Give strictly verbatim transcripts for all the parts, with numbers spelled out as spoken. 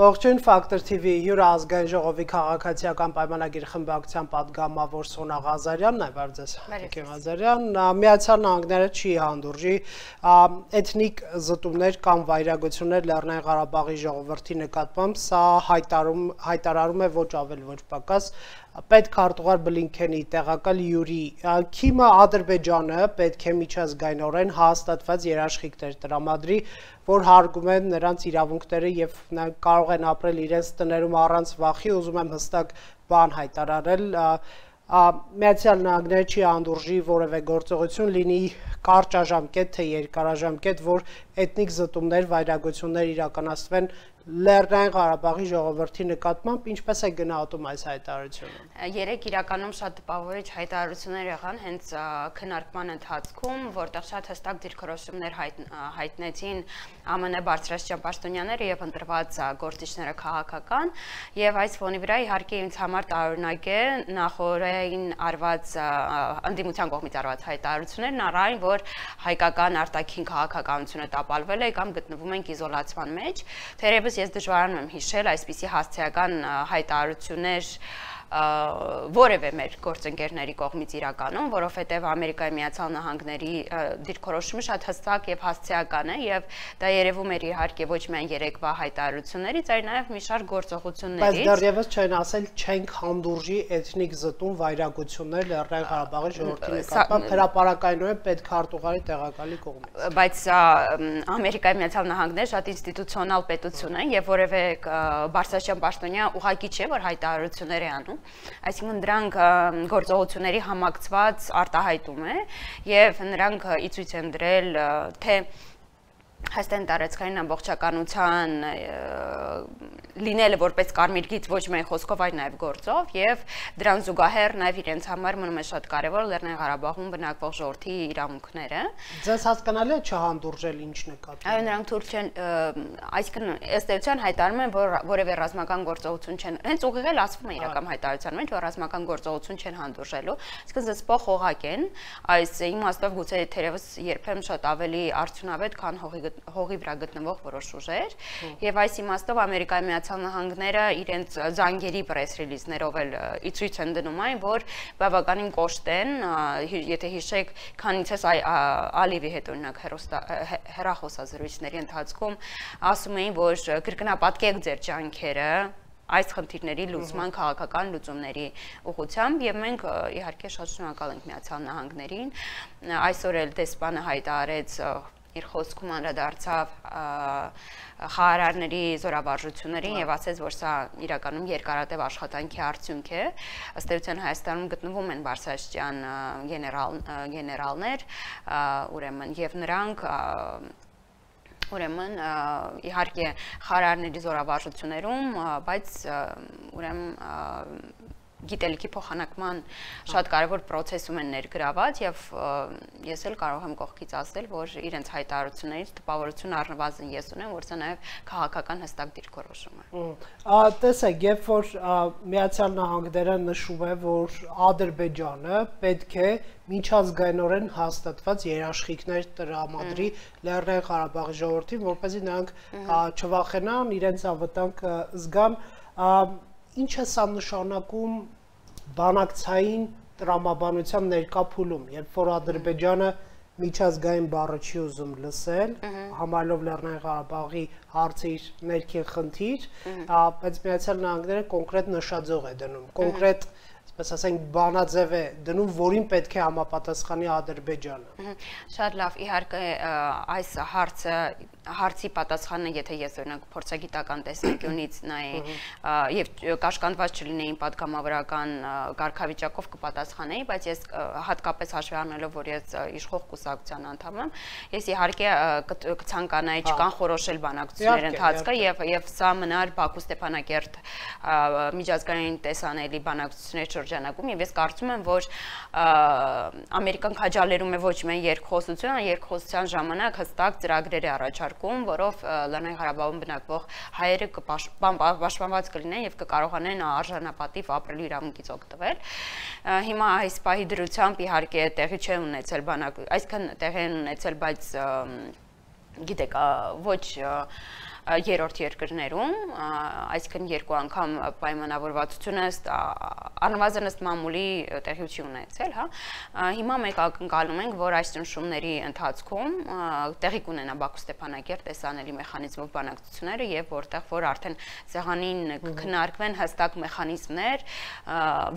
Ողջույն Ֆակտոր թիվի հյուր ազգային ժողովի քաղաքացիական պայմանագիր խմբակցության պատգամավոր Սոնա Ղազարյանն է, բարև ձեզ, Ղազարյան, Միացյալ Նահանգները չի հանդուրժի էթնիկ զտումներ կամ վայրագություններ Լեռնային Ղարաբաղի ժողովրդի նկատմամբ, սա հայտարարում է ոչ ավել ոչ պակաս պետքարտուղար Բլինքենի տեղակալ Յուրի Քիմը Ադրբեջանը պետք է միջազգայնորեն հաստատված երաշխիքներ տրամադրի, որ հարգում են նրանց իրավունքները եւ կարող են ապրել իրենց տներում առանց վախի, ուզում եմ հստակ բան հայտարարել, Միացյալ Նահանգները չի հանդուրժի որևէ գործողություն, լինի կարճաժամկետ թե երկարաժամկետ, որ էթնիկ զտումներ, վայրագություններ իրականացվեն Լեռնային Ղարաբաղի ժողովրդի նկատմամբ, ինչպես է գնահատում այս հայտարարությունը։ Երեք իրականում շատ տպավորիչ հայտարարություններ եղան հենց քննարկման ընթացքում, որտեղ շատ հստակ դիրքորոշումներ հայտնեցին ԱՄՆ բարձրաստիճան պաշտոնյաները եւ ընտրված գործիչները քաղաքական, եւ այս ֆոնի վրա իհարկե ինձ համար տարօրինակ է նախորդային արված ընդդիմության կողմից արված հայտարարություններն առայն, որ հայկական արտաքին քաղաքականությունը տապալվել է կամ գտնվում ենք իզոլացման մեջ, թերևս ես դժվարանում եմ հիշել այսպիսի հասցեական հայտարարություններ որևէ մեր գործընկերների կողմից իրականում, որովհետև Ամերիկայի Միացյալ Նահանգների դիրքորոշումը շատ հստակ եւ հասցեական է եւ դա երևում էր իհարկե ոչ միայն երեկվա հայտարարություններից, այլ նաեւ մի շարք գործողություններից։ Բայց դեռևս չեն ասել չենք հանդուրժի էթնիկ զտում վայրագություններ Լեռնային Ղարաբաղի ժողովրդի նկատմամբ հրապարակայնորեն պետքարտուղարի տեղակալի կողմից։ Բայց Ամերիկայի Միացյալ Նահանգները շատ ինստիտուցիոնալ պետություն է եւ որևէ բարձրաստիճան պաշտոնյա ուղղակի չէ, որ հայտարարություններ է անում։ Այսինքն դրանք գործողությունների համակցված արտահայտում է եւ նրանք ի ցույց են դրել թե Հայաստանի տարածքային ամբողջականության լինելը որպես կարմիր գիծ ոչ միայն խոսքով, այլ նաև գործով եւ դրան զուգահեռ նաև իրենց համար մնում է շատ կարեւոր Լեռնային Ղարաբաղում բնակվող ժողովրդի իրավունքները։ Ձեզ հասկանալի է չհանդուրժել ինչ նկատի։ Այո, նրանք թույլ չեն, այսինքն ըստ էության հայտարարում են, որ որևէ ռազմական գործողություն չեն, հենց ուղիղ էլ ասվում է իրական հայտարարության մեջ, որ ռազմական գործողություն չեն հանդուրժելու, այսինքն զսպող խողակ են, այս իմաստով գուցե թերևս երբեմն շատ ավելի արդյունավետ, քան հողի հողի վրա գտնվող որոշ ուժեր եւ այս իմաստով Ամերիկայի Միացյալ Նահանգները իրենց զանգերի պրես ռիլիզներով էլ ի ցույց են դնում այն, որ բավականին կոշտ են, եթե հիշեք, քանիցս Ալիևի հետ օրինակ հեռախոսազրույցների ընթացքում ասում էին, որ կրկնապատկեք ձեր ջանքերը այս խնդիրների լուծման քաղաքական լուծումների ուղղությամբ եւ մենք իհարկե շատ շնորհակալ ենք Միացյալ Նահանգներին, այսօր էլ դեսպանը հայտարարեց իր խոսքում անդրադարձավ խաղարարների զորավարժություններին եւ ասեց, որ սա իրականում երկարատև աշխատանքի արդյունք է։ Ըստ էության Հայաստանում գտնվում են բարձրաստիճան գեներալ գեներալներ, ուրեմն եւ նրանք ուրեմն իհարկե խաղարարների զորավարժություններում, բայց ուրեմն գիտելիքի փոխանակման շատ կարևոր process-ում են ներգրաված եւ ես էլ կարող եմ կողքից ասել, որ իրենց հայտարարություններից տպավորություն առնվազն ես ունեմ, որ սա նաեւ քաղաքական հստակ դիրքորոշում է։ Տեսեք, երբ որ Միացյալ Նահանգները նշում է, որ Ադրբեջանը պետք է միջազգայնորեն հաստատված երաշխիքներ տրամադրի Լեռնային Ղարաբաղի ժողովրդին, որպեսզի նրանք չվախենան, իրենց անվտանգ զգան, ինչ է սա նշանակում բանակցային տրամաբանության ներկա փուլում, երբ որ Ադրբեջանը միջազգային բառը չի ուզում լսել, համարելով Լեռնային Ղարաբաղի հարցը իր ներքին խնդիր, բայց Միացյալ Նահանգները կոնկրետ նշաձող է դնում, կոնկրետ այսպես ասենք բանաձև է դնում, որին պետք է համապատասխանի Ադրբեջանը։ Շատ լավ, իհարկե այս հարցը հարցի պատասխանը, եթե ես օրինակ փորձագիտական տեսանկյունից նայեի եւ կաշկանդված չլինեին պատգամավորական կարգավիճակով կպատասխանեի, բայց ես հատկապես հաշվի առնելով, որ ես իշխող կուսակցության անդամ եմ, ես իհարկե կցանկանայի չկանխորոշել բանակցությունների ընթացքը եւ եւ սա մնար Բաքու Ստեփանակերտ միջազգային տեսանելի բանակցությունների շրջանակում եւ ես կարծում եմ, որ Ամերիկան քաջալերում է ոչ միայն երկխոսությունը, երկխոսության ժամանակ հստակ ծրագրեր է առաջարկում, որով Լեռնային Ղարաբաղում բնակվող հայերը պաշտպանված կլինեն եւ կկարողանան արժանապատիվ ապրելու իրավունքից օգտվել։ Հիմա այս պահի դրությամբ իհարկե տեղի չէ ունեցել բանակ, այսքան տեղի են ունեցել, բայց գիտեք, ոչ երրորդ երկրներում, այսինքն երկու անգամ պայմանավորվածությունը առնվազն ըստ մամուլի տեղի չի ունեցել, հա։ Հիմա մենք ակնկալում ենք, որ այս ճնշումների ընթացքում տեղի կունենա Բաքու Ստեփանակերտ տեսանելի մեխանիզմով բանակցությունները եւ որտեղ որ արդեն սեղանին քննարկվեն հստակ մեխանիզմներ,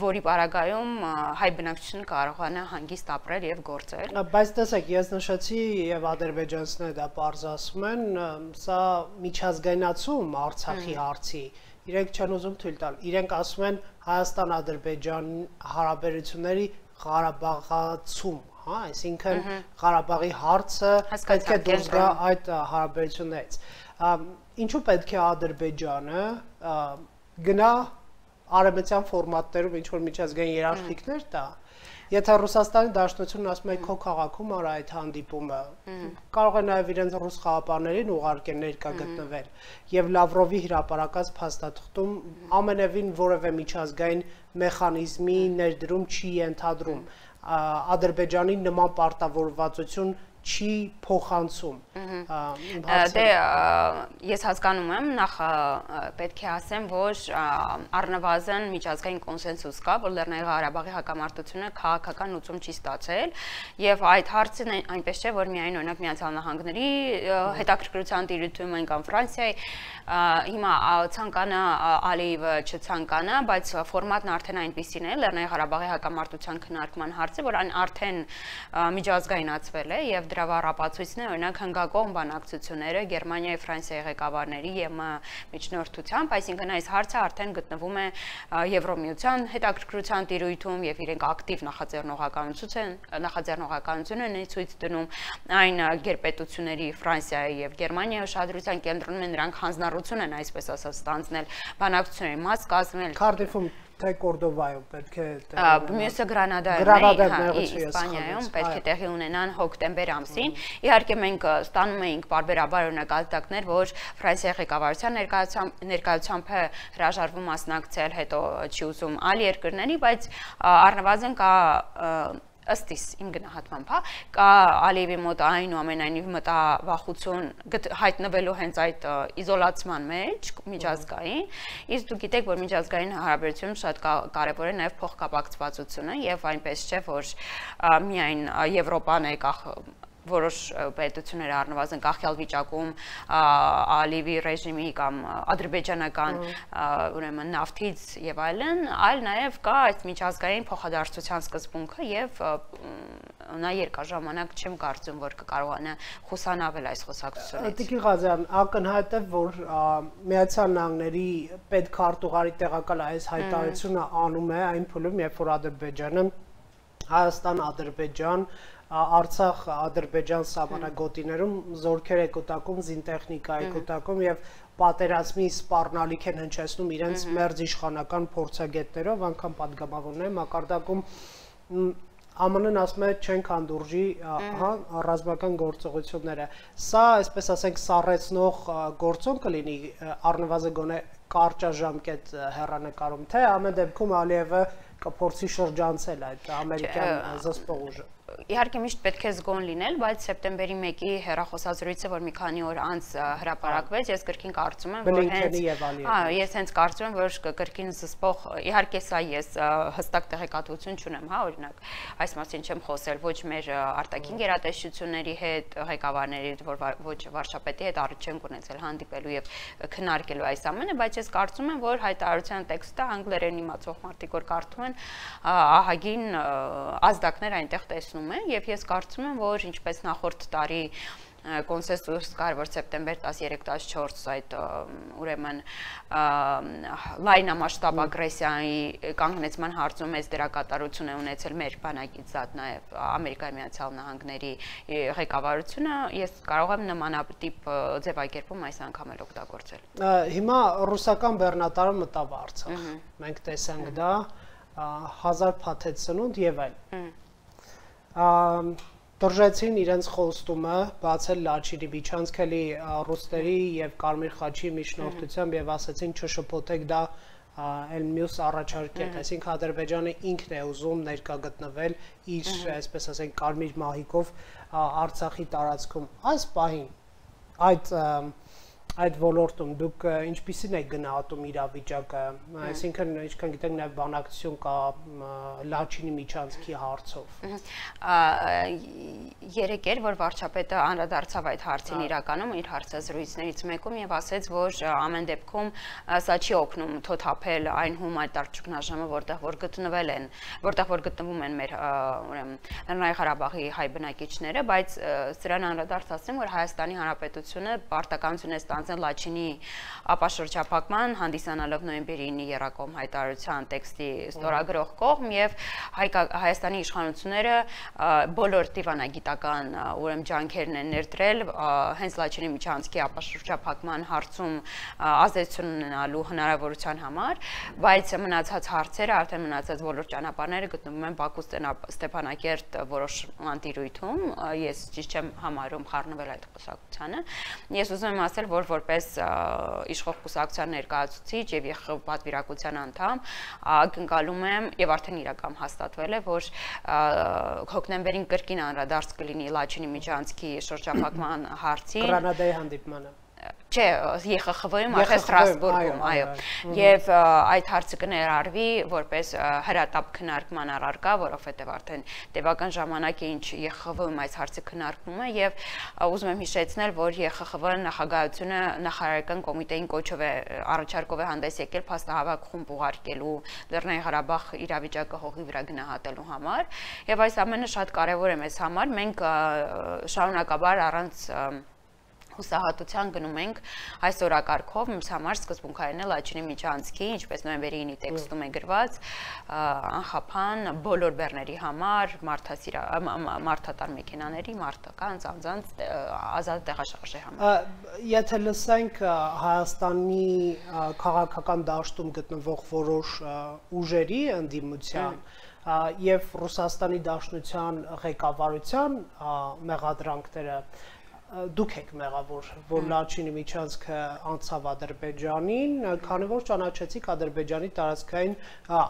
որի պարագայում հայ բնակչությունը կարողանա հանգիստ ապրել եւ գործել։ Բայց տեսեք, ես նշեցի եւ ադրբեջանցիները դա պարզասում են, սա միջազգայնացում Արցախի հարցի, իրենք չեն ուզում թույլ տալ, իրենք ասում են Հայաստան-Ադրբեջան հարաբերությունների Ղարաբաղացում, հա, այսինքն Ղարաբաղի հարցը պետք է դուրս գա այդ հարաբերություններից։ Ինչու պետք է Ադրբեջանը գնա արևմտյան ֆորմատներում ինչ-որ միջազգային երաշխիքներ տա, եթե Ռուսաստանի Դաշնությունն ասում է քո քաղաքում արա այդ հանդիպումը, կարող է նաև իրենց ռուս խաղապարներին ուղարկեն ներկա գտնվել եւ Լավրովի հրապարակած փաստաթղթում ամենևին որևէ միջազգային մեխանիզմի ներդրում չի ենթադրում, Ադրբեջանի նման պարտավորվածություն չի փոխանցում։ Դե ես հասկանում եմ, նախ պետք է ասեմ, որ առնվազն միջազգային կոնսենսուս կա, որ Լեռնային Ղարաբաղի հակամարտությունը քաղաքական լուծում չի ստացել եւ այդ հարցը այնպես չէ, որ միայն օրինակ Միացյալ Նահանգների հետաքրքրության տիրույթում են կամ Ֆրանսիայի, հիմա ցանկանա Ալիևը չցանկանա, բայց ֆորմատն արդեն այնպեսին է, Լեռնային Ղարաբաղի հակամարտության քննարկման հարցը, որ այն արդեն միջազգայնացվել է եւ դրա վառապացույցն է օրինակ հնգակողմ բանակցությունները Գերմանիայի, Ֆրանսիայի ղեկավարների եւ միջնորդությամբ, այսինքն այս հարցը արդեն գտնվում է Եվրոմիության հետաքրքրության տիրույթում եւ իրենք ակտիվ նախաձեռնողականություն են, նախաձեռնողականություն են ցույց դնում այն գերպետությունների Ֆրանսիայի եւ Գերմանիայի ուշադրության կենտրոնում են, նրանք հանձնառություն են այսպես ասած ստանձնել բանակցությունների մաս կազմել Քարդիֆում թե Կորդովայում պետք է մյուսը Գրանադայում, Իսպանիայում պետք է տեղի ունենան հոկտեմբեր ամսին։ Իհարկե մենք ստանում էինք պարբերաբար օրինակ արտակներ, որ Ֆրանսիայի ղեկավարության ներկայությամբ է հրաժարվում մասնակցել, հետո չի ուզում այլ երկրների, բայց առնվազն կա ըստ իմ գնահատմամբ, հա, կա Ալիևի մոտ այնուամենայնիվ մտավախություն հայտնվելու հենց այդ իզոլացման մեջ միջազգային, իսկ դուք գիտեք, որ միջազգային հարաբերությունում շատ կարևոր է նաև փոխկապակցվածությունը եւ այնպես չէ, որ միայն Եվրոպան է կախ որոշ պետություններ առնվազն կախյալ վիճակում Ալիևի ռեժիմի կամ ադրբեջանական ուրեմն նավթից եւ այլն, այլ նաեւ կա այդ միջազգային փոխադարձության սկզբունքը եւ նա երկար ժամանակ չեմ կարծում, որ կկարողանա խուսանավել այս խոսակցությունից։ Տիկին Ղազարյան, ակնհայտ է, որ Միացյալ Նահանգների պետքարտուղարի տեղակալ այս հայտարարությունը անում է այն փուլում, երբ որ Ադրբեջանը Հայաստան-Ադրբեջան Արցախ Ադրբեջան սահմանագոտիներում զորքեր է կուտակում, զինտեխնիկա է կուտակում եւ պատերազմի սպառնալիք են հնչեցնում իրենց մերձ իշխանական փորձագետներով, անգամ падգամավորների մակարդակում ԱՄՆ-ն ասում է չենք հանդուրժի հա ռազմական գործողությունները։ Սա, այսպես ասենք, սառեցնող գործոն կլինի առնվազն գոնե կարճաժամկետ հեռանկարում, թե ամեն դեպքում Ալիևը կփորձի շրջանցել այդ ամերիկյան զսպող ուժը։ Իհարկե միշտ պետք է զգոն լինել, բայց սեպտեմբերի մեկի հեռախոսազրույցը, որ մի քանի օր անց հրապարակվեց, ես կրկին կարծում եմ, որ հենց հա, ես հենց կարծում եմ, որ կրկին զսպող, իհարկե սա ես հստակ տեղեկատվություն չունեմ, հա, օրինակ, այս մասին չեմ խոսել ոչ մեր արտաքին գերատեսչությունների հետ, ղեկավարների, ոչ վարչապետի հետ առիթ չենք ունեցել հանդիպելու եւ քննարկելու այս ամենը, բայց ես կարծում եմ, որ հայտարարության տեքստը անգլերեն իմացող մարդիկ որ կարդում են, ահագին ազդակներ այնտեղ տեսնում են եւ ես կարծում եմ, որ ինչպես նախորդ տարի կոնսենսուս կար, որ սեպտեմբեր տասներեք տասնչորս այդ ուրեմն լայնամասշտաբ ագրեսիայի կանգնեցման հարցում մեծ դերակատարություն է ունեցել մեր բանակից զատ նաև Ամերիկայի Միացյալ Նահանգների ղեկավարությունը, ես կարող եմ նմանատիպ ձևակերպում այս անգամ էլ օգտագործել։ Հիմա ռուսական բեռնատարը մտավ Արցախ։ Մենք տեսանք դա հազար փաթեթ սնունդ եւ այլն։ Դրժեցին իրենց խոստումը բացել Լաչինի միջանցքելի ռուսների եւ Կարմիր խաչի միջնորդությամբ եւ ասացին չշփոթեք դա այլ մյուս առաջարկեք, այսինքն Ադրբեջանը ինքն է ուզում ներկա գտնվել իր, այսպես ասենք, կարմիր մահիկով Արցախի տարածքում։ Այս պահին այդ այդ ոլորտում դուք ինչպիսին եք գնահատում իրավիճակը, այսինքն ինչքան գիտենք նաև բանակցություն կա Լաչինի միջանցքի հարցով։ Երեք էր, որ վարչապետը անդրադարձավ այդ հարցին իրականում իր հարցազրույցներից մեկում եւ ասաց, որ ամեն դեպքում սա չի օգնում թոթափել այն հումանիտար ճգնաժամը, որտեղ որ գտնվել են, որտեղ որ գտնվում են մեր ուրեմն Լեռնային Ղարաբաղի հայ բնակիչները, բայց սրան անդրադարձ ասեմ, որ Հայաստանի Հանրապետությունը պարտականություն է Լաչինի ապաշրջափակման հանդիսանալով նոյեմբերի ինի եռակողմ հայտարարության տեքստի ստորագրող կողմ եւ Հայաստանի իշխանությունները բոլոր դիվանագիտական ուրեմն ջանքերն են ներդրել հենց Լաչինի միջանցքի ապաշրջափակման հարցում ազդեցություն ունենալու հնարավորության համար, բայց մնացած հարցերը, արդեն մնացած բոլոր ճանապարհները գտնվում են Բաքու Ստեփանակերտ որոշ անտիրույթում, ես ճիշտ չեմ համարում խառնվել այդ խոսակցությանը։ Ես ուզում եմ ասել, որ որպես իշխող կուսակցության ներկայացուցիչ եւ ԵԽ պատվիրակության անդամ ակնկալում եմ եւ արդեն իրական հաստատվել է, որ հոկտեմբերին կրկին անդրադարձ կլինի Լաչինի միջանցքի շրջափակման հարցին։ Գրանադայի հանդիպմանը։ Չէ, ԵԽԽՎ-ում, արդեն Ստրասբուրգում, այո, եւ այդ հարցը կներառվի որպես հրատապ քննարկման առարկա, որովհետեւ արդեն տևական ժամանակ է ինչ ԵԽԽՎ-ում այս հարցը քննարկվում է եւ ուզում եմ հիշեցնել, որ ԵԽԽՎ նախագահությունը նախարարական կոմիտեին կոչով է առաջարկով է հանդես եկել փաստահավաք խումբ ուղարկելու Լեռնային Ղարաբաղ իրավիճակը հողի վրա գնահատելու համար եւ այս ամենը շատ կարեւոր է մեզ համար, մենք շարունակաբար առանց հուսահատության գնում ենք այս օրակարգով, մեր համար սկզբունքային է Լաչինի միջանցքի, ինչպես նոյեմբերի ինի տեքստում է գրված, անխափան բոլոր բեռների համար, մարդատար մեքենաների, մարդական, ծանծանց ազատ տեղաշարժի համար։ Եթե լսենք Հայաստանի քաղաքական դաշտում գտնվող որոշ ուժերի ընդդիմության եւ Ռուսաստանի Դաշնության ղեկավարության մեղադրանքները, դուք եք մեղավոր, որ Լաչինի միջանցքը անցավ Ադրբեջանին, քանի որ ճանաչեցիք Ադրբեջանի տարածքային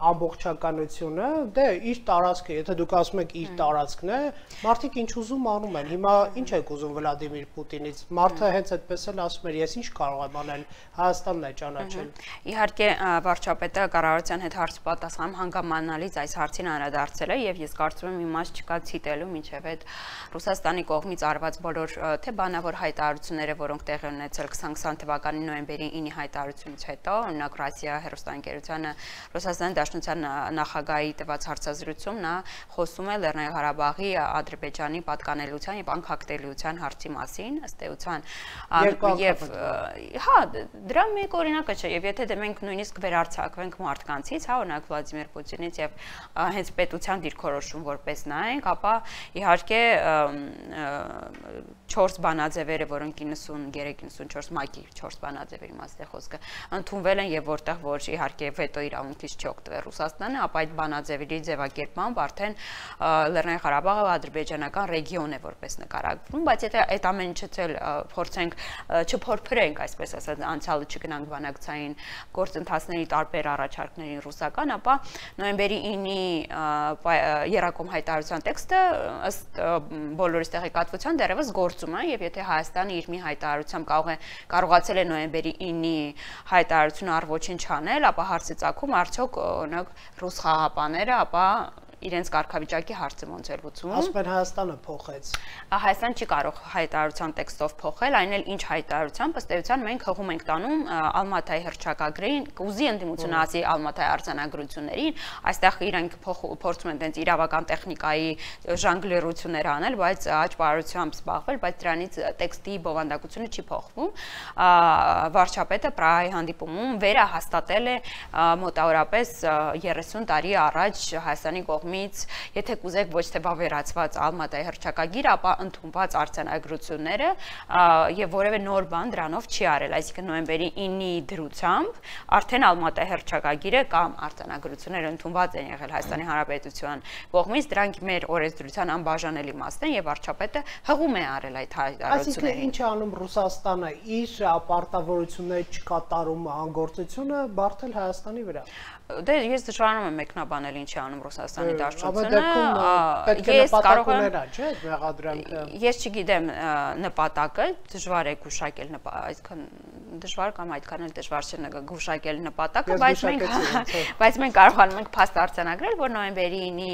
ամբողջականությունը, դե իր տարածքը, եթե դուք ասում եք իր տարածքն է, մարդիկ ինչ ուզում անում են։ Հիմա ինչ եք ուզում Վլադիմիր Պուտինից։ Մարդը հենց այդպես էլ ասում էր, ես ինչ կարող եմ անել, Հայաստանն է ճանաչել։ Իհարկե վարչապետը կառավարության հետ հարց պատասխան հանգամանալից այս հարցին անդրադարձել է եւ ես կարծում եմ իմաստ չկա ցիտելու մինչեւ այդ Ռուսաստանի կողմից արված բոլոր թե բանավոր հայտարարությունները, որոնք տեղի ունեցել քսանքսան թվականի նոյեմբերի ինի հայտարարությունից հետո, օրինակ Ռասիա հեռուստաընկերությանը Ռուսաստանի Դաշնության նախագահի տված հարցազրույցում նա խոսում է Լեռնային Ղարաբաղի Ադրբեջանի պատկանելիության եւ անկախտելիության հարցի մասին, ըստ էության եւ հա, դրա մեկ օրինակը չէ, եւ եթե դե մենք նույնիսկ վերարձակվենք մարդկանցից, հա, օրինակ Վլադիմիր Պուտինից եւ հենց պետության դիրքորոշում որպես նայենք, ապա իհարկե չորս բանաձևերը, որոնք իննսուններեք իննսունչորս մակի չորս բանաձևերի մասը խոսքը ընդունվել են եւ որտեղ որ իհարկե վետո իրավունքից չօգտվել Ռուսաստանը, ապա այդ բանաձևերի ձևակերպմամբ արդեն Լեռնային Ղարաբաղը ադրբեջանական ռեգիոն է որպես նկարագրվում, բայց եթե այդ ամեն ինչը էլ փորձենք չփորփրենք, այսպես ասած, անցյալը չգնանք բանակցային գործընթացների տարբեր առաջարկներին ռուսական, ապա նոյեմբերի ինի եռակողմ հայտարարության տեքստը ըստ բոլորիս տեղեկատվության դեռևս գործում է եւ եթե Հայաստանը իր մի հայտարարությամբ կարող է կարողացել է նոյեմբերի ինի հայտարարությունը առ ոչինչ անել, ապա հարցը ծագում արդյոք օրինակ ռուս խաղապաները, ապա իրենց կարգավիճակի հարցը ոնց էր լուծվում։ Ասում են Հայաստանը փոխեց։ Հայաստան չի կարող հայտարարության տեքստով փոխել, այն էլ ինչ հայտարարությամբ, ըստ էության մենք հողում ենք տանում Ալմատայի հռչակագրին, կուզի ընդդիմությունը ասի Ալմատայի արձանագրություններին, այստեղ իրենք փորձում են տենց իրավական տեխնիկայի ժանգլերություններ անել, բայց աճպարությամբ զբաղվել, բայց դրանից տեքստի բովանդակությունը չի փոխվում։ Վարչապետը Պրահայի հանդիպումում վերահաստատել է մոտավորապես երեսուն տարի առաջ Հայաստանի կողմից կողմից, եթե կուզեք ոչ թե վավերացված Ալմատայի հռչակագիր, ապա ընդունված արձանագրությունները եւ որևէ նոր բան դրանով չի արել, այսինքն նոյեմբերի ինի դրությամբ արդեն Ալմատայի հռչակագիրը կամ արձանագրությունները ընդունված են եղել Հայաստանի Հանրապետության կողմից, դրանք մեր օրենսդրության անբաժանելի մասն են եւ վարչապետը հղում է արել այդ հայտարարություններին։ Այսինքն ինչ է անում Ռուսաստանը իր պարտավորությունների չկատարում անգործությունը բարթել Հայաստանի վրա։ Դե ես դժվարանում եմ մեկնաբանել ինչ է անում Ռուսաստանի Դաշնությունը։ Ես կարող եմ, չէ՞, մեղադրանքը։ Ես չգիտեմ նպատակը, դժվար է գուշակել, այսքան դժվար կամ այդքան էլ դժվար չէ գուշակել նպատակը, բայց մենք բայց մենք կարողանում ենք փաստ արձանագրել, որ նոյեմբերի ինի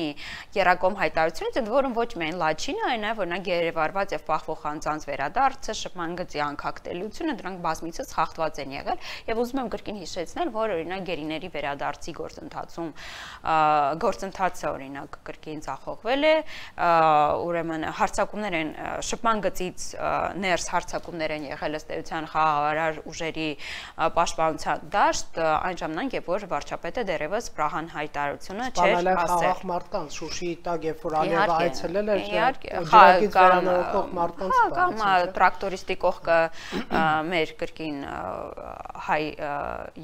երակոմ հայտարարությունից, ընդ որում ոչ միայն Լաչինը, այլ նաև օրինակ երևարված եւ պահվող անձանց վերադարձը, շփման գծի անկախտելիությունը, դրանք բազմիցս խախտված են եղել եւ ուզում եմ կրկին հիշեցնել, որ օրինակ գերիների վերադարձի գործընթացում գործընթացը օրինակ կրկին ձախողվել է, ուրեմն հարձակումներ են շփման գծից ներս հարձակումներ են եղել ըստ էության խաղաղարար ուժերի պաշտպանության դաշտ, այն ժամանակ, երբ որ վարչապետը դեռևս Պրահան հայտարարությունը չէր ասել։ Խաղաղ մարդկանց Շուշիի տակ, երբ որ Ալիևը այցելել էր, ջրակից վերանորոգող մարդկանց կամ տրակտորիստի կողքը մեր կրկին հայ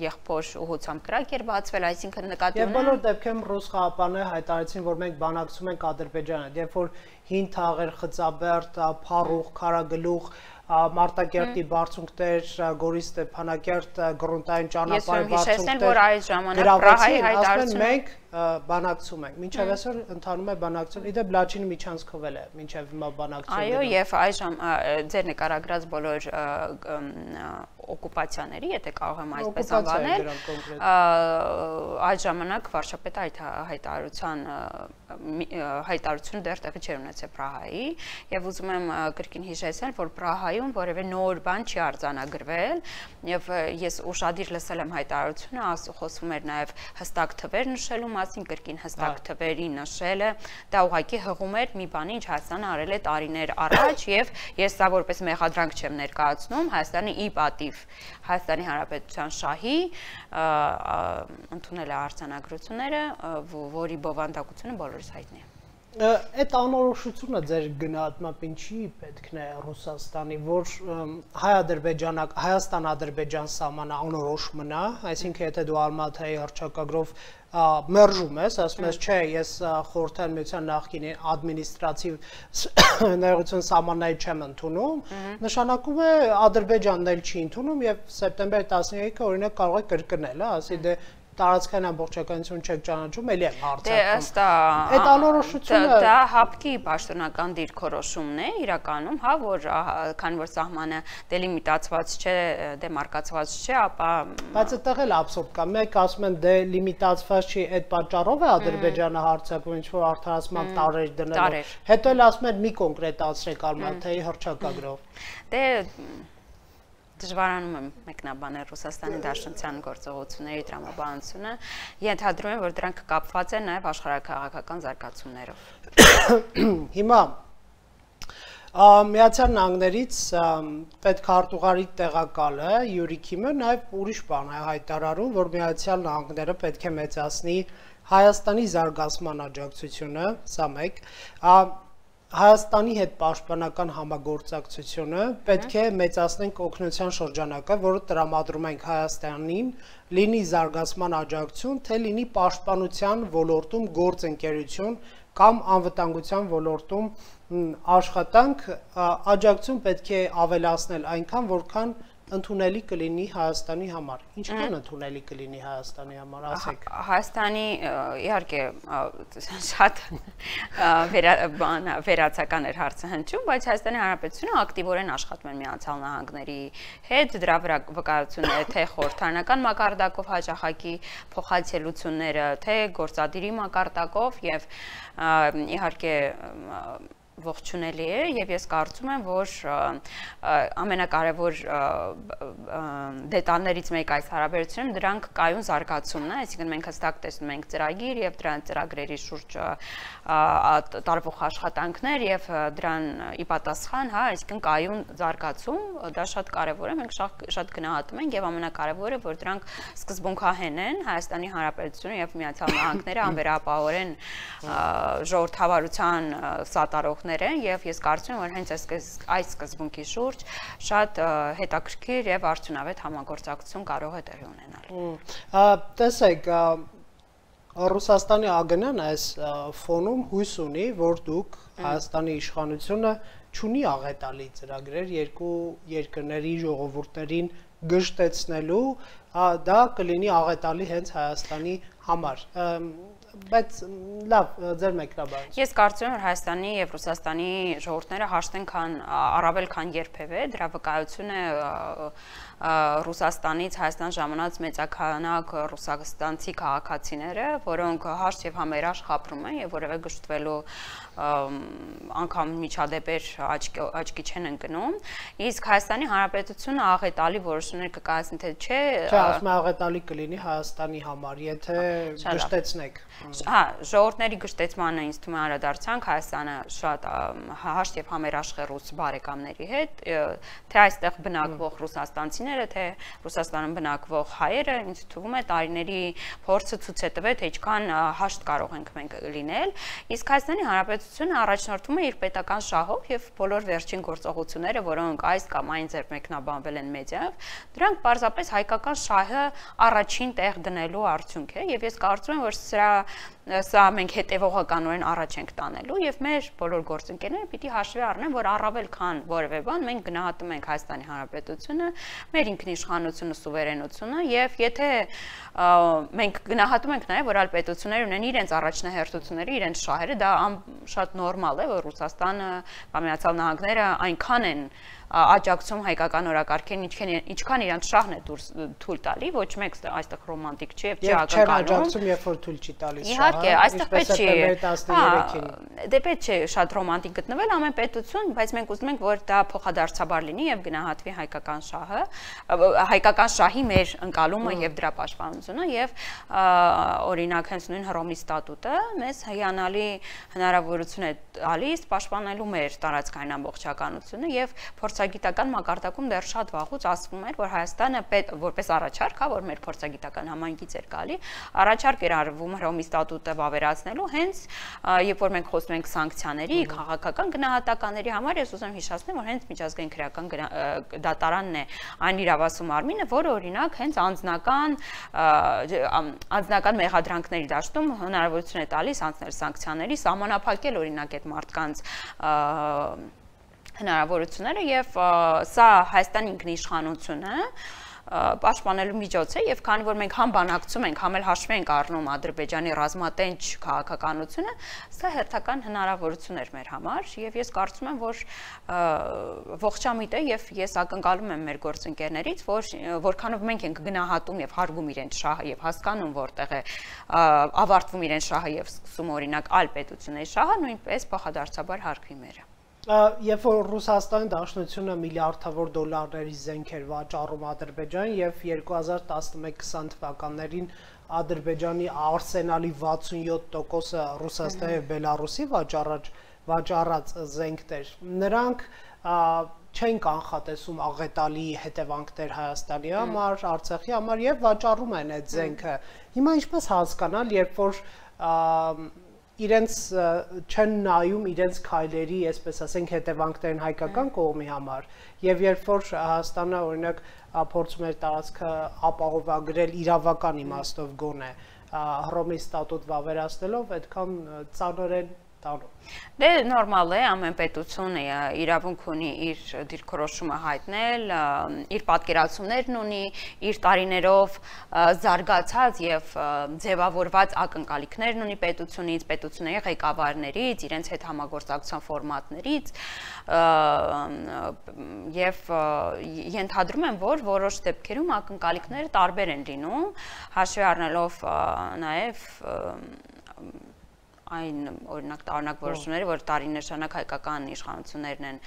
եղբոր ուղղությամբ կրակ էր բացվել, այսինքն նկատի ունեմ։ Եվ բոլոր դեպքերում ռուս խաղապանները հայտարարեցին, որ մենք բանակցում ենք Ադրբեջանը, երբ որ հին թաղեր, Խծաբերդ, Փարուխ, Քարագլուխ, Մարտակերտի բարձունքներ, Գորիս Ստեփանակերտ, գրունտային ճանապարհի բարձունքներ գրավեցին, ասում են մենք բանակցում ենք, մինչև այսօր ընթանում է բանակցություն, իդեպ Լաչինը միջանցքվել է, մինչև հիմա բանակցություն։ Այո, եւ այժմ ձեր նկարագրած բոլոր օկուպացիաների, եթե կարող եմ այսպես անվանել, այդ ժամանակ վարչապետը այդ հայտարարության հայտարարությունը դեռ տեղի չէր ունեցել Պրահայի եւ ուզում եմ կրկին հիշեցնել, որ Պրահայում որևէ նոր բան չի արձանագրվել եւ ես ուշադիր լսել եմ հայտարարությունը, խոսվում էր նաեւ հստակ թվեր նշելու մասին, կրկին հստակ թվերի նշելը դա ուղղակի հղում էր մի բանի, ինչ Հայաստանը արել է տարիներ առաջ եւ ես դա որպես մեղադրանք չեմ ներկայացնում, Հայաստանի ի պատիվ Հայաստանի Հանրապետության շահի ընդունել է արձանագրությունները, որի բովանդակությունը բոլորիս հայտնի է։ Այդ անորոշությունը ձեր գնահատմամբ ինչի պետքն է Ռուսաստանի, որ Հայ-Ադրբեջան, Հայաստան-Ադրբեջան սահմանը անորոշ մնա, այսինքն եթե դու Ալմատայի հռչակագրով մերժում ես, ասում ես, չէ, ես Խորհրդային Միության նախկին ադմինիստրատիվ ներողություն սահմանների չեմ ընդունում, նշանակում է Ադրբեջանն էլ չի ընդունում եւ սեպտեմբերի տասնյոթը օրինակ կարող է կրկնել, ասի դե տարածքային ամբողջականություն չեք ճանաչում, էլի եմ հարցակում։ Այդ անորոշությունը դա հապկի պաշտոնական դիրքորոշումն է իրականում, հա, որ քանի որ սահմանը դելիմիտացված չէ, դեմարկացված չէ, ապա բայց այդտեղ էլ աբսուրդ կա։ Մեկ ասում են դելիմիտացված չի, այդ պատճառով է Ադրբեջանը հարցակում, ինչ որ արդարացման տարեր դնելով։ Հետո էլ ասում են մի կոնկրետացրեք Ալմատայի հռչակագրով։ Դե դժվարանում եմ մեկնաբանել Ռուսաստանի Դաշնության գործողությունների տրամաբանությունը, ենթադրում եմ, որ դրանք կապված են նաև աշխարհաքաղաքական զարգացումներով։ Հիմա Միացյալ Նահանգներից պետքարտուղարի տեղակալը Յուրի Քիմը նաև ուրիշ բան է հայտարարում, որ Միացյալ Նահանգները պետք է մեծացնի Հայաստանի զարգացման աջակցությունը, սա մեկ, Հայաստանի հետ պաշտպանական համագործակցությունը պետք է մեծացնենք օգնության շրջանակը, որը տրամադրում ենք Հայաստանին, լինի զարգացման աջակցություն, թե լինի պաշտպանության ոլորտում գործընկերություն կամ անվտանգության ոլորտում աշխատանք, աջակցություն պետք է ավելացնել այնքան, որքան ընդունելի կլինի Հայաստանի համար։ Ինչքան ընդունելի կլինի Հայաստանի համար, ասեք։ Հայաստանի իհարկե շատ վերացական էր հարցը հնչում, բայց Հայաստանի Հանրապետությունը ակտիվորեն աշխատում է Միացյալ Նահանգների հետ, դրա վրա վկայությունները թե խորհրդարանական մակարդակով հաճախակի փոխայցելությունները, թե գործադիրի մակարդակով եւ իհարկե ողջունելի է եւ ես կարծում եմ, որ ամենակարևոր դետալներից մեկը այս հարաբերությունում դրանք կայուն զարգացումն է, այսինքն մենք հստակ տեսնում ենք ծրագիր եւ դրան ծրագրերի շուրջ տարվող աշխատանքներ եւ դրան ի պատասխան, հա, այսինքն կայուն զարգացում, դա շատ կարևոր է, մենք շատ գնահատում ենք եւ ամենակարևորը, որ դրանք սկզբունքահեն են, Հայաստանի Հանրապետությունը եւ Միացյալ Նահանգները անվերապահորեն ժողովրդավարության սատարողներ են եւ ես կարծում եմ, որ հենց այս սկզբունքի շուրջ շատ հետաքրքիր եւ արդյունավետ համագործակցություն կարող է տեղի ունենալ։ Տեսեք, Ռուսաստանի ԱԳՆ-ն այս ֆոնում հույս ունի, որ դուք Հայաստանի իշխանությունը չունի աղետալի ծրագրեր երկու երկրների ժողովուրդներին գժտեցնելու, դա կլինի աղետալի հենց Հայաստանի համար։ Բայց լավ, ձեր մեկնաբանությունը։ Ես կարծում եմ, որ Հայաստանի եւ Ռուսաստանի ժողովուրդները հաշտեն քան առավել քան երբևէ, դրա վկայությունը Ռուսաստանից Հայաստան ժամանած մեծաքանակ ռուսաստանցի քաղաքացիները, որոնք հաշտ եւ համերաշխ ապրում են եւ որևէ գժտվելու անգամ միջադեպեր աչքի չեն ընկնում, իսկ Հայաստանի Հանրապետությունը աղետալի որոշումներ կկայացնի, թե չէ։ Չէ, ասում եմ աղետալի կլինի Հայաստանի համար, եթե գժտեցնեք։ Հա, ժողովուրդների գժտեցմանը ինձ թվում է անդրադարձանք Հայաստանը շատ հաշտ եւ համերաշխ է ռուս բարեկամների հետ, թե այստեղ բնակվող ռուսաստանցիները, թե Ռուսաստանում բնակվող հայերը, ինձ թվում է տարիների փորձը ցույց է տվել, թե ինչքան հաշտ կարող ենք մենք լինել, իսկ Հայաստանի Հանրապետությունը առաջնորդվում է իր պետական շահով եւ բոլոր վերջին գործողությունները, որոնք այս կամ այն ձեռ մեկնաբանվել են մեդիայով, դրանք պարզապես հայկական շահը առաջին տեղ դնելու արդյունք է եւ ես կարծում եմ, որ սրա սա մենք հետևողականորեն առաջ ենք տանելու եւ մեր բոլոր գործընկերները պիտի հաշվի առնեն, որ առավել քան որևէ բան մենք գնահատում ենք Հայաստանի Հանրապետությունը, մեր ինքնիշխանությունը, սուվերենությունը եւ եթե մենք գնահատում ենք նաեւ, որ այլ պետություններ ունեն իրենց առաջնահերթությունները, իրենց շահերը, դա շատ նորմալ է, որ Ռուսաստանը կամ Միացյալ Նահանգները այնքան են աջակցում հայկական օրակարգերին, ինչքան իրանց շահն է թույլ տալի, ոչ մեկ այստեղ ռոմանտիկ չի եւ չի ակնկալում։ Չեն աջակցում, երբ որ թույլ չի տալիս շահը։ Իհարկե, այստեղ պետք չի, դե պետք չէ շատ ռոմանտիկ գտնվել ամեն պետություն, բայց մենք ուզում ենք, որ դա փոխադարձաբար լինի եւ գնահատվի հայկական շահը, հայկական շահի մեր ընկալումը եւ դրա պաշտպանությունը եւ օրինակ հենց նույն Հռոմի ստատուտը մեզ հիանալի հնարավորություն է տալիս պաշտպանելու մեր տարածքային ամբողջականությունը եւ փորձագիտական մակարդակում դեռ շատ վաղուց ասվում էր, որ Հայաստանը որպես առաջարկ, հա, որ մեր փորձագիտական համայնքից էր գալի, առաջարկ էր արվում Հռոմի ստատուտը վավերացնելու, հենց երբ որ մենք խոսում ենք սանկցիաների, քաղաքական գնահատականների համար, ես ուզում եմ հիշեցնել, որ հենց միջազգային քրեական դատարանն է այն իրավասու մարմինը, որը օրինակ հենց անձնական անձնական մեղադրանքների դաշտում հնարավորություն է տալիս անցնել սանկցիաների, սահմանափակել օրինակ այդ մարդկանց հնարավորությունները եւ սա Հայաստանի ինքնիշխանությունը պաշտպանելու միջոց է եւ քանի որ մենք համ բանակցում ենք, համ էլ հաշվի ենք առնում Ադրբեջանի ռազմատենչ քաղաքականությունը, սա հերթական հնարավորություն էր մեր համար եւ ես կարծում եմ, որ ողջամիտ է եւ ես ակնկալում եմ մեր գործընկերներից, որ որքանով մենք ենք գնահատում եւ հարգում իրենց շահը եւ հասկանում որտեղ է ավարտվում իրենց շահը եւ սկսում օրինակ այլ պետությունների շահը, նույնպես փոխադարձաբար հարգվի մերը։ Երբ որ Ռուսաստանի Դաշնությունը միլիարդավոր դոլարների զենք էր վաճառում Ադրբեջան եւ երկու հազար տասնմեկ քսան թվականներին Ադրբեջանի արսենալի վաթսունյոթ տոկոսը Ռուսաստանի եւ Բելարուսի վաճառած վաճառած զենքներ, նրանք չեն կանխատեսում աղետալի հետևանքներ Հայաստանի համար, Արցախի համար եւ վաճառում են այդ զենքը։ Հիմա ինչպես հասկանալ, երբ որ իրենց չեն նայում իրենց քայլերի, այսպես ասենք, հետևանքներն հայկական կողմի համար եւ երբ որ Հայաստանը օրինակ փորձում էր տարածքը ապահովագրել իրավական իմաստով գոնե Հռոմի ստատուտ վավերացնելով, այդքան ծանր են տանում։ Դե նորմալ է, ամեն պետություն իրավունք ունի իր դիրքորոշումը հայտնել, իր պատկերացումներն ունի, իր տարիներով զարգացած եւ ձևավորված ակնկալիքներն ունի պետությունից, պետությունների ղեկավարներից, իրենց հետ համագործակցության ֆորմատներից եւ ենթադրում եմ, որ որոշ դեպքերում ակնկալիքները տարբեր են լինում, հաշվի առնելով նաեւ այն օրինակ տարօրինակ որոշումները, որ տարիներ շարունակ հայկական իշխանություններն են,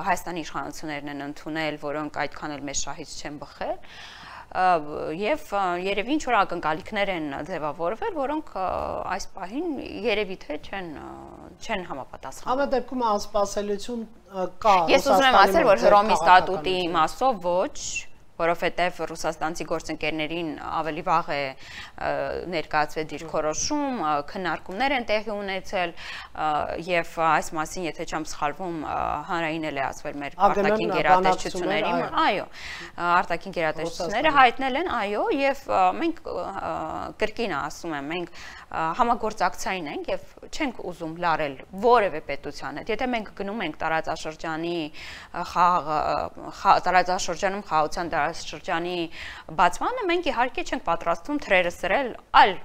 Հայաստանի իշխանություններն են ընդունել, որոնք այդքան էլ մեծ շահից չեն բխել, եւ երևի ինչ որ ակնկալիքներ են ձևավորվել, որոնք այս պահին երևի թե չեն չեն համապատասխանում։ Ամեն դեպքում անսպասելիություն կա։ Ես ուզում եմ ասել, որ Հռոմի ստատուտի իմաստով ոչ, որովհետև ռուսաստանցի գործընկերներին ավելի վաղ է ներկայացվել դիրքորոշում, քննարկումներ են տեղի ունեցել եւ այս մասին, եթե չեմ սխալվում, հանրային էլ է ասվել մեր արտաքին գերատեսչությունների, այո, արտաքին գերատեսչությունները հայտնել են, այո, եւ մենք կրկին ասում եմ, մենք համագործակցային ենք եւ չենք ուզում լարել որևէ պետության հետ։ Եթե մենք գնում ենք տարածաշրջանի խաղ տարածաշրջանում խաղաղության տարածաշրջանի բացմանը, մենք իհարկե չենք պատրաստվում թրերը սրել այլ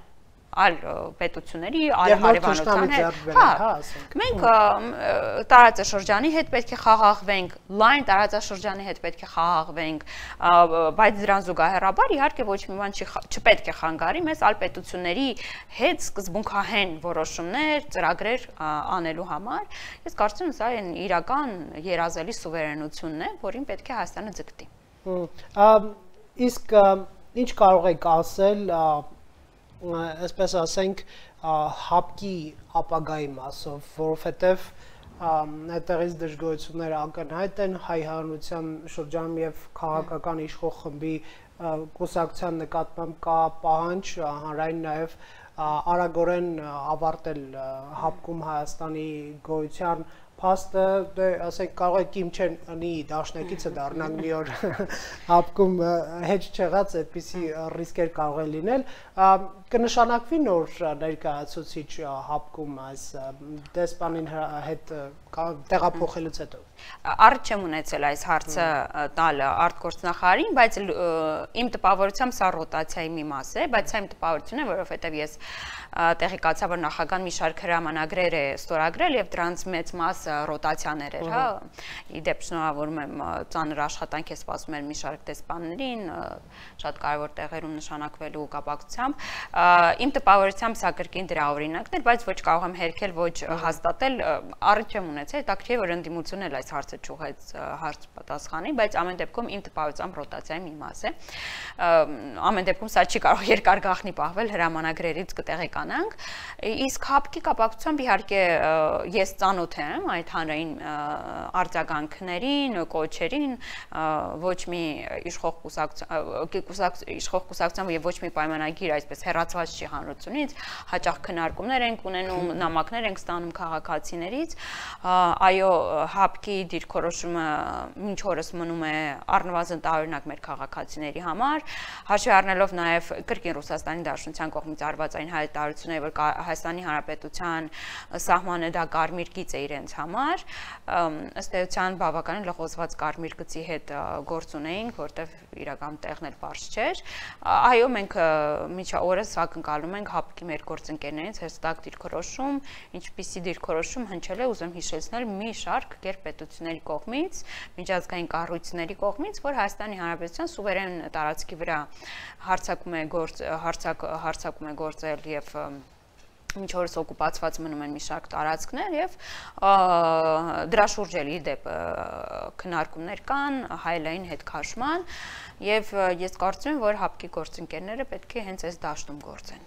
այլ պետությունների, այլ հարևանության հետ։ Հա, մենք տարածաշրջանի հետ պետք է խաղաղվենք, լայն տարածաշրջանի հետ պետք է խաղաղվենք, բայց դրան զուգահեռաբար իհարկե ոչ մի բան չպետք է խանգարի մեզ այլ պետությունների հետ սկզբունքահեն որոշումներ, ծրագրեր անելու համար։ Ես կարծում եմ սա այն իրական երազելի սուվերենությունն է, որին պետք է Հայաստանը ձգտի։ Իսկ ինչ կարող եք ասել այսպես ասենք հապկի ապագայի մասով, որովհետև այդտեղից դժգոհությունները ակնհայտ են հայ հանրության շրջանում եւ քաղաքական իշխող խմբի կուսակցության նկատմամբ կա պահանջ հանրային նաեւ արագորեն ավարտել հապկում Հայաստանի գոյության փաստը, դե ասենք կարող է Կիմ Չեն Ընի դաշնակիցը դառնանք մի օր հապկում հեչ չեղած այդպիսի ռիսկեր կարող է լինել, կնշանակվի նոր ներկայացուցիչ հապկում այս դեսպանին հետ տեղափոխելուց հետո։ Առիթ չեմ ունեցել այս հարցը տալը արտգործնախարարին, բայց իմ տպավորությամբ սա ռոտացիայի մի մաս է, բայց սա իմ տպավորությունն է, որովհետև ես տեղեկացա, որ նախագահան մի շարք հրամանագրեր է ստորագրել եւ դրանց մեծ մասը ռոտացիաներ էր, հա։ Իդեպ շնորհավորում եմ ծանր աշխատանք է սպասում էր մի շարք դեսպաններին, շատ կարևոր տեղերում նշանակվելու կապակցությամբ։ Իմ տպավորությամբ սա կրկին դրա օրինակն էր, բայց ոչ կարող եմ հերքել, ոչ հաստատել, առիթ չեմ ունեցել, հետաքրքիր որ ընդդիմությունն էլ այս հարցը ճուղեց հարց պատասխանի, բայց ամեն դեպքում իմ տպավորությամբ ռոտացիայի մի մաս է։ Ամեն դեպքում սա չի կարող երկար գաղտնի պահվել, հրամանագրերից կտեղեկանանք։ Իսկ հապկի կապակցությամբ իհարկե ես ծանոթ եմ այդ հանրային արձագանքներին, կոչերին, ոչ մի իշխող կուսակցության, իշխող կուսակցության եւ ոչ մի պայմանագիր այսպես հեռացված չի հանրությունից, հաճախ քննարկումներ ենք ունենում, նամակներ ենք ստանում քաղաքացիներից, այո, հապկի դիրքորոշումը մինչ օրս մնում է առնվազն տարօրինակ մեր քաղաքացիների համար, հաշվի առնելով նաեւ կրկին Ռուսաստանի Դաշնության կողմից արված այն հայտարարությունները, որ Հայաստանի Հանրապետության սահմանը դա կարմիր գիծ է իրենց համար, ըստ էության բավականին լղոզված կարմիր գծի հետ գործ ունեինք, որտեղ իրական տեղն էլ բարձ չէր։ Այո, մենք միջա օրս ակնկալում ենք հապկի մեր գործընկերներից հստակ դիրքորոշում, ինչպիսի դիրքորոշում հնչել է, ուզում հիշեցնել մի շարք գերպետությունների կողմից, միջազգային կառույցների կողմից, որ Հայաստանի Հանրապետության սուվերեն տարածքի վրա հարձակում է գործ հարձակ հարձակում է գործել եւ մինչ օրս օկուպացված մնում են մի շարք տարածքներ եւ դրա շուրջ էլ իդեպ քննարկումներ կան հայելային հետ քաշման եւ ես կարծում եմ, որ հապկի գործընկերները պետք է հենց այս դաշտում գործեն։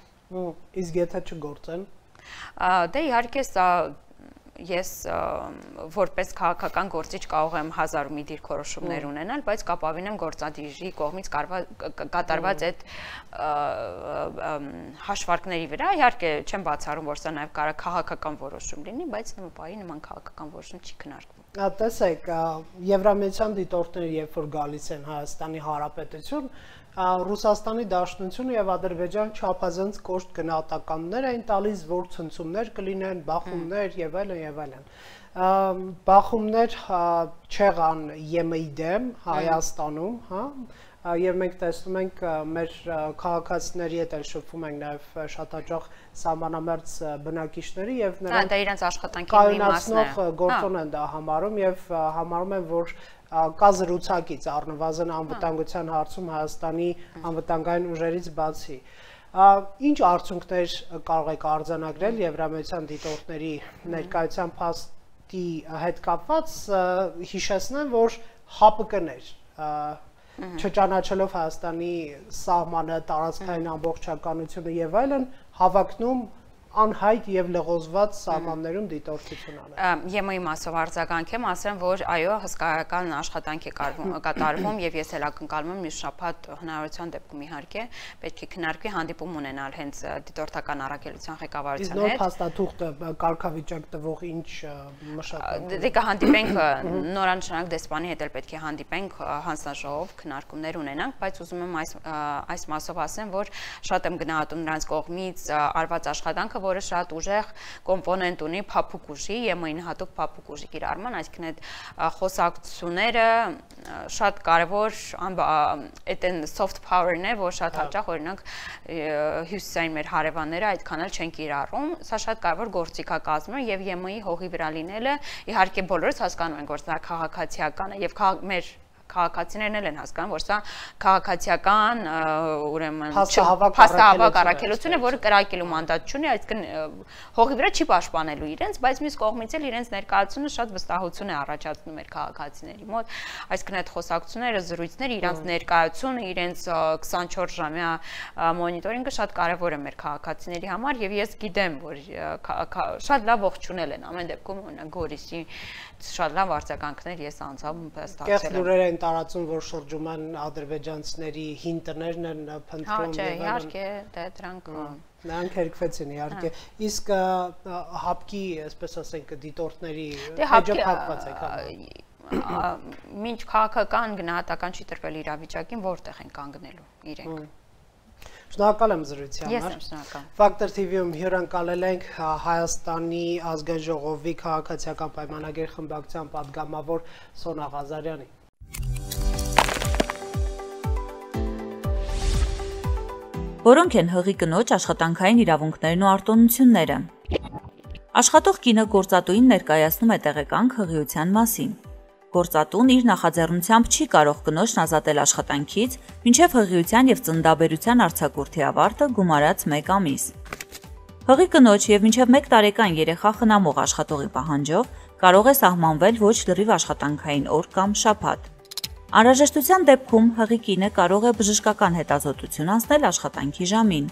Իսկ եթե չգործեն։ Դե իհարկե սա ես որպես քաղաքական գործիչ կարող եմ հազար ու մի դիրքորոշումներ ունենալ, բայց կապավին եմ գործադիրի կողմից կատարված այդ հաշվարկների վրա, իհարկե չեմ բացառում, որ սա նաև կարող է քաղաքական որոշում լինի, բայց նմապայի նման քաղաքական որոշում չի քննարկվում։ Տեսեք, Եվրամիության դիտորդները երբ որ գալիս են Հայաստանի Հանրապետություն, Ռուսաստանի Դաշնությունը եւ Ադրբեջան չափազանց կոշտ գնահատականներ էին տալիս, որ ցնցումներ կլինեն, բախումներ եւ այլն եւ այլն։ Բախումներ չեղան ԵՄ-ի դեմ Հայաստանում, հա, եւ մենք տեսնում ենք մեր քաղաքացիների հետ էլ շփվում ենք նաեւ շատ հաճախ սահմանամերձ բնակիչների եւ նրանք դա իրենց աշխատանքի մի մասն է։ Գործոն են դա համարում եւ համարում են, որ կա զրուցակից առնվազն անվտանգության հարցում Հայաստանի անվտանգային ուժերից բացի։ Ինչ արդյունքներ կարող եք արձանագրել Եվրամիության դիտորդների ներկայության փաստի հետ կապված, հիշեցնեմ, որ ՀԱՊԿ-ներ չճանաչելով Հայաստանի սահմանը, տարածքային ամբողջականությունը եւ այլն, հավակնում անհայտ եւ լղոզված սահմաններում դիտորդություն անել։ ԵՄ-ի մասով արձագանքեմ, ասեմ, որ այո, հսկայական աշխատանք է կատարվում եւ ես էլ ակնկալում եմ մյուս շաբաթ հնարավորության դեպքում իհարկե պետք է քննարկվի հանդիպում ունենալ հենց դիտորդական առաքելության ղեկավարության հետ։ Իսկ նոր փաստաթուղթը կարգավիճակ տվող ինչ մշակում։ Դե կհանդիպենք նորանշանակ դեսպանի հետ էլ պետք է հանդիպենք հանձնաժողով քննարկումներ ունենանք, բայց ուզում եմ այս այս մասով ասեմ, որ շատ եմ գնահատում նրանց կողմից արված աշխատանքը, որը շատ ուժեղ կոմպոնենտ ունի փափուկ ուժի, ԵՄ-ին հատուկ փափուկ ուժի կիրառման, այսինքն այդ խոսակցությունները շատ կարևոր այդ են soft power-ն է, որ շատ հաճախ օրինակ հյուսիսային մեր հարևանները այդքան էլ չեն կիրառում, սա շատ կարևոր գործիքակազմ է եւ ԵՄ-ի հողի վրա լինելը իհարկե բոլորս հասկանում ենք, որ դա քաղաքացիական է եւ մեր քաղաքացիներն էլ են հասկանում, որ սա քաղաքացիական ուրեմն փաստահավաք առաքելություն է, որը կրակելու մանդատ չունի, այսինքն հողի վրա չի պաշտպանելու իրենց, բայց մյուս կողմից էլ իրենց ներկայացումը շատ վստահություն է առաջացնում մեր քաղաքացիների մոտ, այսինքն այդ խոսակցությունները, զրույցները, իրենց ներկայությունը, իրենց քսանչորս ժամյա մոնիտորինգը շատ կարևոր է մեր քաղաքացիների համար եւ ես գիտեմ, որ շատ լավ ողջունել են ամեն դեպքում օրինակ Գորիսի շատ լավ արձագանքներ ես անձամբ ստացել եմ տարածում, որ շրջում են ադրբեջանցիների հին տներն են փնտրում։ Հա, չէ, իհարկե, դե դրանք նրանք հերկվեցին իհարկե։ Իսկ ՀԱՊԿ-ի, այսպես ասենք, դիտորդների էջը փակված է։ Մինչ քաղաքական գնահատական չի տրվել իրավիճակին, որտեղ են կանգնելու իրենք։ Շնորհակալ եմ զրույցի համար։ Ես եմ շնորհակալ։ Factor T V-ում հյուրընկալել ենք Հայաստանի ազգային ժողովի քաղաքացիական պայմանագիր խմբակցության պատգամավոր Սոնա Ղազարյանին։ Որոնք են հղի կնոջ աշխատանքային իրավունքներն ու արտոնությունները։ Աշխատող կինը գործատուին ներկայացնում է տեղեկանք հղիության մասին։ Գործատուն իր նախաձեռնությամբ չի կարող կնոջն ազատել աշխատանքից, մինչև հղիության եւ ծննդաբերության արձակուրդի ավարտը գումարած մեկ ամիս։ Հղի կնոջ եւ մինչև մեկ տարեկան երեխա խնամող աշխատողի պահանջով կարող է սահմանվել ոչ լրիվ աշխատանքային օր կամ շաբաթ։ Անհրաժեշտության դեպքում հղի կինը կարող է բժշկական հետազոտություն անցնել աշխատանքի ժամին։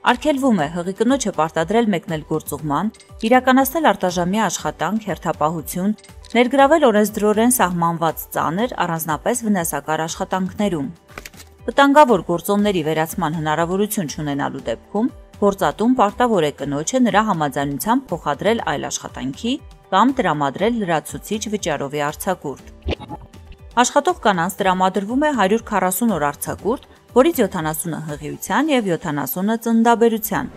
Արգելվում է հղի կնոջը պարտադրել մեկնել գործուղման, իրականացնել արտաժամյա աշխատանք, հերթապահություն, ներգրավել օրենսդրորեն սահմանված ծանր, առանձնապես վնասակար աշխատանքներում։ Վտանգավոր գործոնների վերացման հնարավորություն չունենալու դեպքում գործատուն պարտավոր է կնոջը նրա համաձայնությամբ փոխադրել այլ աշխատանքի կամ տրամադրել լրացուցիչ վճարովի արձակուրդ։ Աշխատող կանանց տրամադրվում է հարյուր քառասուն օր արձակուրդ, որից յոթանասունը հղիության եւ յոթանասունը ծննդաբերության։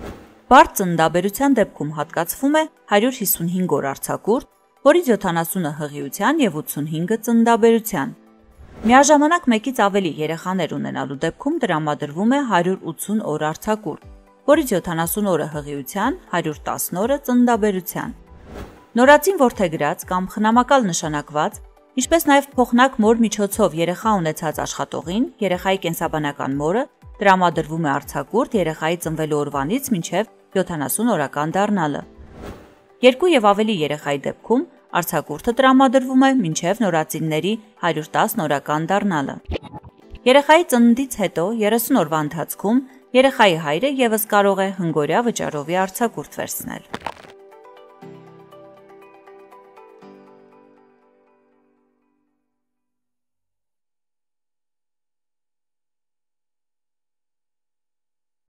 Բարդ ծննդաբերության դեպքում հատկացվում է հարյուր հիսունհինգ օր արձակուրդ, որից յոթանասունը հղիության եւ ութսունհինգը ծննդաբերության։ Միաժամանակ մեկից ավելի երեխաներ ունենալու դեպքում տրամադրվում է հարյուր ութսուն օր արձակուրդ, որից յոթանասուն օրը հղիության, հարյուր տասն օրը ծննդաբերության։ Նորածին որդեգրած կամ խնամակալ նշանակված, ինչպես նաև փոխնակ մոր միջոցով երեխա ունեցած աշխատողին, երեխայի կենսաբանական մորը տրամադրվում է արձակուրդ երեխայի ծնվելու օրվանից մինչև յոթանասուն օրական դառնալը։ Երկու եւ ավելի երեխայի դեպքում արձակուրդը տրամադրվում է մինչև նորածինների հարյուր տասն օրական դառնալը։ Երեխայի ծննդից հետո երեսուն օրվա ընթացքում երեխայի հայրը եւս կարող է հնգօրյա վճարովի արձակուրդ վերցնել։